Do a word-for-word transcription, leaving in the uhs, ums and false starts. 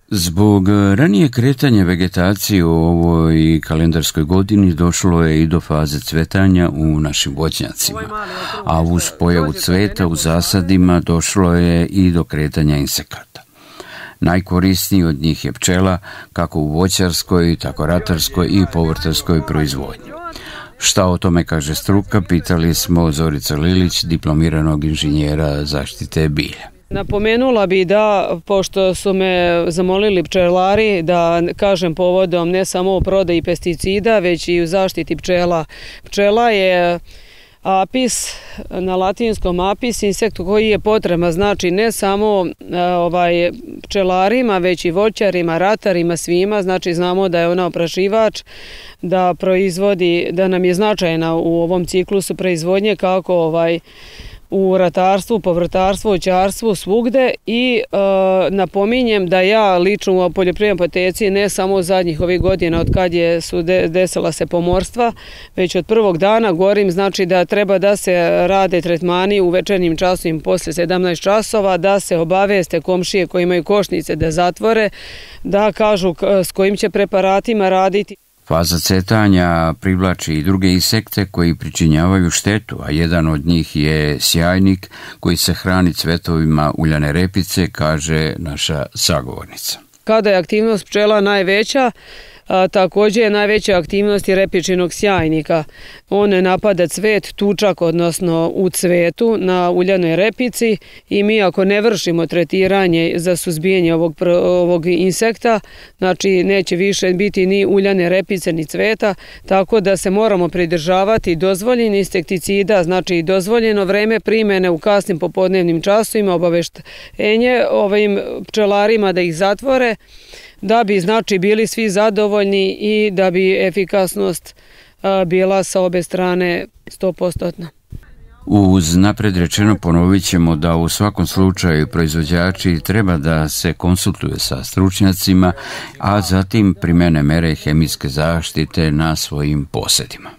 Zbog ranije kretanja vegetacije u ovoj kalendarskoj godini došlo je i do faze cvetanja u našim voćnjacima, a uz pojavu cveta u zasadima došlo je i do kretanja insekata. Najkorisniji od njih je pčela, kako u voćarskoj, tako ratarskoj i povrtarskoj proizvodnji. Šta o tome kaže struka, pitali smo Zorica Lilić, diplomiranog inženjera zaštite bilja. Napomenula bi da, pošto su me zamolili pčelari da kažem povodom ne samo o prodaji pesticida, već i u zaštiti pčela. Pčela je apis, na latinskom apis, insekt koji je potreban, znači ne samo ovaj, pčelarima, već i voćarima, ratarima, svima, znači znamo da je ona oprašivač, da proizvodi, da nam je značajna u ovom ciklusu proizvodnje kako ovaj, u ratarstvu, povrtarstvu, voćarstvu, svugde i e, napominjem da ja lično u poljoprivrednoj apoteci ne samo zadnjih ovih godina od kad je su de, desila se pomorstva, već od prvog dana govorim znači da treba da se rade tretmani u večernjim časovima posle sedamnaest časova, da se obaveste komšije koji imaju košnice da zatvore, da kažu s kojim će preparatima raditi. Faza cvetanja privlači i druge insekte koji pričinjavaju štetu, a jedan od njih je sjajnik koji se hrani cvetovima uljane repice, kaže naša sagovornica. Kada je aktivnost pčela najveća, a, također je najveća aktivnost i repičinog sjajnika. On ne napada cvet, tučak, odnosno u cvetu na uljanoj repici i mi ako ne vršimo tretiranje za suzbijanje ovog, ovog insekta, znači neće više biti ni uljane repice ni cveta, tako da se moramo pridržavati dozvoljenih insekticida, znači dozvoljeno vreme primjene u kasnim popodnevnim časovima, obaveštenje ovim pčelarima da ih zatvore, da bi znači bili svi zadovoljni i da bi efikasnost a, bila sa obe strane sto posto. Uz napred rečeno ponovit ćemo da u svakom slučaju proizvođači treba da se konsultuju sa stručnjacima, a zatim primene mere hemijske zaštite na svojim posedima.